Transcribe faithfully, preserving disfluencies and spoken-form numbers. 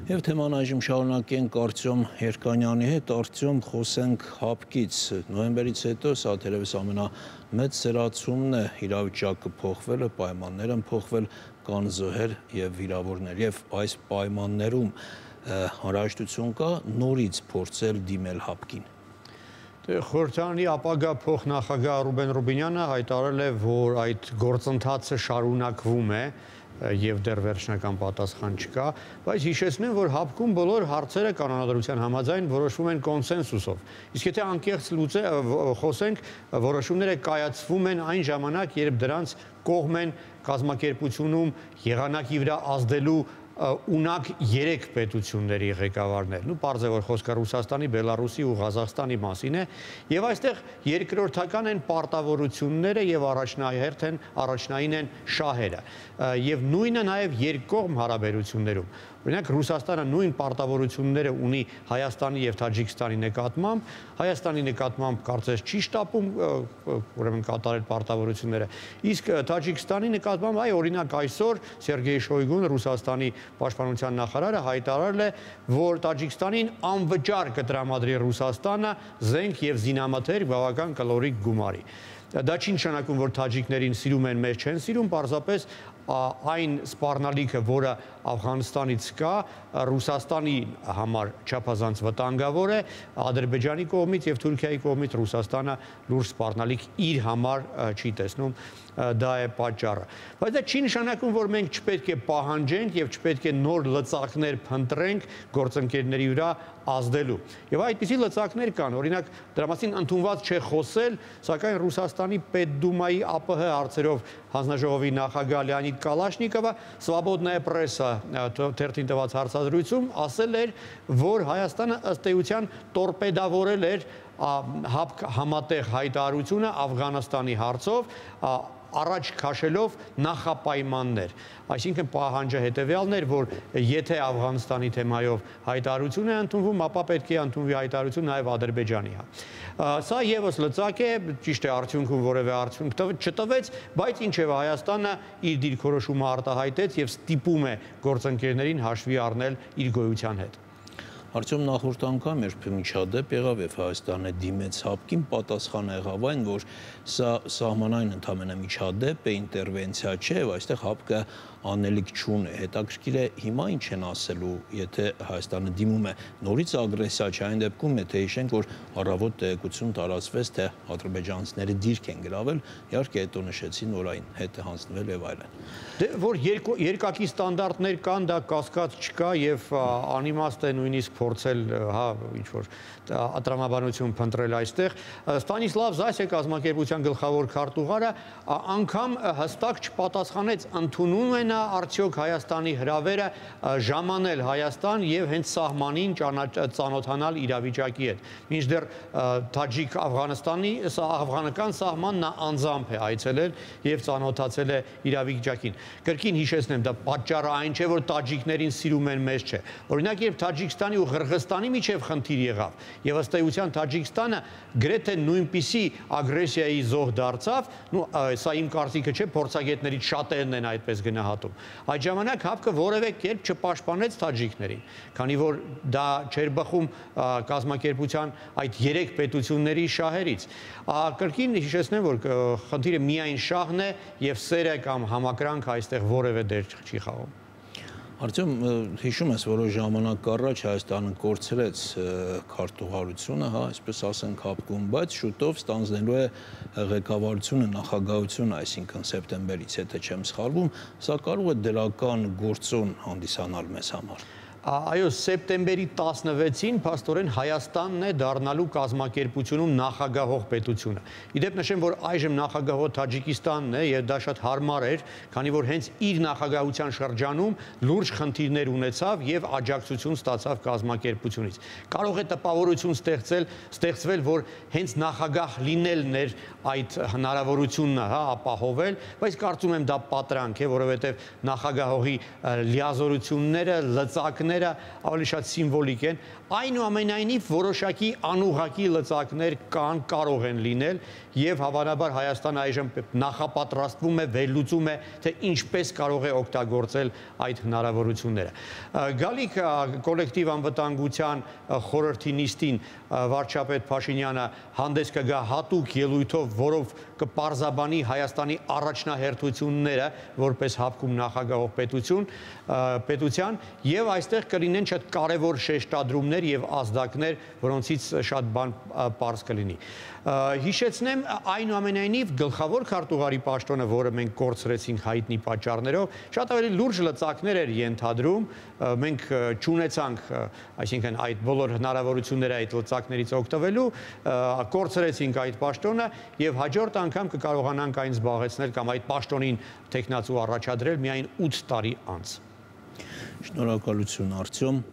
Եվ թեման այժմ շարունակենք Արտյոմ Երկանյանի հետ, Արտյոմ, խոսենք հապկից, նոյեմբերից հետո սա թերևս ամենամեծ սրացումն է, իրավիճակը փոխվել է, պայմաններ են փոխվել, կան զոհեր եւ վիրավորներ, եւ այս պայմաններում անհրաժեշտություն կա նորից փորձել դիմել հապկին։ Խորհրդարանի ապագա փոխնախագահ Ռուբեն Ռուբինյանը հայտարարել է, որ այդ գործընթացը շարունակվում է եւ դեռ վերջնական պատասխան չկա, բայց հիշեցնեմ, որ հապկում բոլոր հարցերը կանոնադրության համաձայն որոշվում են կոնսենսուսով։ Իսկ եթե անկեղծ խոսենք, որոշումները կայացվում են այն ժամանակ, երբ դրանց կողմ են կազմակերպությունում եղանակի վրա ազդելու ունակ երեք պետությունների ղեկավարներ, նու պարզ է, որ խոսքը Ռուսաստանի, Բելարուսի ու Ղազախստանի մասին է, եւ այստեղ երկրորդական են պարտավորությունները եւ առաջնահերթ են, առաջնային են շահերը, եւ նույնը նաեւ երկկողմ հարաբերություններում։ Օրինակ Ռուսաստանը նույն պարտավորությունները ունի Հայաստանի եւ Թաջիկստանի նկատմամբ, Հայաստանի նկատմամբ կարծես չի շտապում ուրեմն կատարել պարտավորությունները, իսկ Թաջիկստանի նկատմամբ այ օրինակ այսօր Սերգեյ Շոյգուն, Ռուսաստանի պաշտպանության նախարարը հայտարարել է, որ Տաջիկստանին անվճար կտրամադրի Ռուսաստանը զենք եւ զինամթերք բավական կլորիկ գումարի։ Դա չի նշանակում, որ թաջիկներին սիրում են, մեզ չեն սիրում, պարզապես այն սպառնալիքը, որը Աֆղանստանից կա, Ռուսաստանի համար չափազանց վտանգավոր է, Ադրբեջանի կողմից եւ Թուրքիայի կողմից Ռուսաստանը լուրջ սպառնալիք իր համար չի տեսնում, դա է պատճառը։ Բայց դա չի նշանակում, որ մենք չպետք է պահանջենք եւ չպետք է նոր լծակներ փնտրենք գործընկերների վրա ազդելու։ Եվ այդպիսի լծակներ կան, օրինակ դրա մասին ընդունված չէ խոսել, սակայն Ռուսաստանի Պետդումայի ԱՊՀ հարցերով հանձնաժողովի նախագահ Լեոնիդ Կալաշնիկովը Սվաբոդնայա պրեսա թերթին տված հարցազրույցում ասել էր, որ Հայաստանը ըստ էության տորպեդավորել էր հապկ համատեղ հայտարարությունը Աֆղանստանի հարցով, առաջ քաշելով նախապայմաններ, այսինքն պահանջը հետևյալն էր, որ եթե Աֆղանստանի թեմայով հայտարարություն է ընդունվում, ապա պետք է ընդունվի հայտարարություն նաև Ադրբեջանի։ Սա եւս լծակ է, ճիշտ է, արդյունքում որևէ արդյունք չտվեց, բայց ինչեւ Հայաստանը իր դիրքորոշումը արտահայտեց եւ ստիպում է գործընկերներին հաշվի առնել իր գոյության հետ։ Արտյոմ, նախորդ անգամ երբ միջադեպ եղավ եւ Հայաստանը դիմեց հապկին, պատասխանը եղավ այն, որ սա սահմանային ընդամենը միջադեպ է, ինտերվենցիա չէ, եւ այստեղ հապկը անելիք չունի։ Հետաքրքիր է հիմա ինչ են ասելու, եթե Հայաստանը դիմում է նորից ագրեսիա, չէ, այն դեպքում եթե հիշենք, որ առավոտ տեղեկություն տարածվեց, թե ադրբեջանցիները դիրք են գրավել, իհարկե հետո նշեցին, որ այն հետ է հանձնվել եւ այլն։ Դե որ երկակի ստանդարտներ կան, դա կասկած չկա եւ անիմաստ է նույնիսկ փորձել, հա, ինչ որ տրամաբանություն փնտրել այստեղ։ Ստանիսլավ Զասյա կազմակերպության գլխավոր քարտուղարը անգամ հստակ չպատասխանեց, ընդունում է նա արդյոք Հայաստանի հրավերը ժամանել Հայաստան եւ հենց սահմանին ծանոթանալ իրավիճակի հետ։ Մինչդեռ Թաջիկ Աֆղանստանի աֆղանական սահման նա անձամբ է այցելել եւ ծանոթացել է իրավիճակին։ Կրկին հիշեցնեմ, դա պատճառը այն չէ, որ տաջիկներին սիրում են, մեզ չէ։ Օրինակ, երբ Թաջիկստանի ու Ղրղստանի միջև խնդիր եղավ, եւ ըստ էության Թաջիկստանը գրեթե նույնպիսի ագրեսիայի զոհ դարձավ, նու սա իմ կարծիքը չէ, փորձագետներից շատերն են այդպես գնահատում։ Այդ ժամանակ հապկը որևէ կերպ չպաշտպանեց թաջիկներին, քանի որ դա չէր բխում կազմակերպության այդ երեք պետությունների շահերից։ Կրկին հիշեցնեմ, որ խնդիրը միայն շահն է եւ սերը կամ համակրանք այստեղ որևէ դեր չի խաղում։ Արտյոմ, հիշում ես, որոշ ժամանակ առաջ Հայաստանը կորցրեց քարտուղարությունը, հա, այսպես ասենք հապկում, բայց շուտով ստանձնելու է ղեկավարությունը, նախագահությունը, այսինքն սեպտեմբերից, եթե չեմ սխալվում, սա կարող է դրական գործոն հանդիսանալ մեզ համար։ Այո, սեպտեմբերի տասնվեցին փաստորեն Հայաստանն է դառնալու կազմակերպությունում նախագահող պետությունը։ Իդեպ նշեմ, որ այժմ նախագահող Թաջիկստանն է եւ դա շատ հարմար էր, քանի որ հենց իր նախագահության շրջանում լուրջ խնդիրներ ունեցավ եւ աջակցություն ստացավ կազմակերպությունից։ Կարող է տպավորություն ստեղծել, ստեղծվել, որ հենց նախագահ լինելն էր այդ հնարավորությունը, հա, ապահովել, բայց կարծում եմ դա պատրանք է, որովհետեւ նախագահողի լիազորությունները, լծակները բառները ավելի շատ սիմվոլիկ են, այնուամենայնիվ որոշակի անուղղակի լծակներ կան, կարող են լինել եւ հավանաբար Հայաստանը այժմ նախապատրաստվում է, վերլուծում է, թե ինչպես կարող է օգտագործել այդ հնարավորությունները։ Գալիք կոլեկտիվ անվտանգության խորհրդի նիստին վարչապետ Փաշինյանը հանդես կգա հատուկ ելույթով, որով կպարզաբանի Հայաստանի առաջնահերթությունները որպես հապկում նախագահող պետություն, պետության եւ այստեղ կլինեն շատ կարևոր շեշտադրումներ եւ ազդակներ, որոնցից շատ բան պարզ կլինի։ Հիշեցնեմ այնուամենայնիվ գլխավոր քարտուղարի պաշտոնը, որը մենք կորցրեցինք հայտնի պատճառներով, շատ ավելի լուրջ լծակներ էր ենթադրում, մենք չունեցանք, այսինքն այդ բոլոր հնարավորությունները այդ լծակներից օգտվելու, կորցրեցինք այդ պաշտոնը եւ հաջորդ անգամ կկարողանանք այն զբաղեցնել կամ այդ պաշտոնին տեխնացու առաջադրել միայն ութ տարի անց։ Շնորհակալություն, Արտյոմ։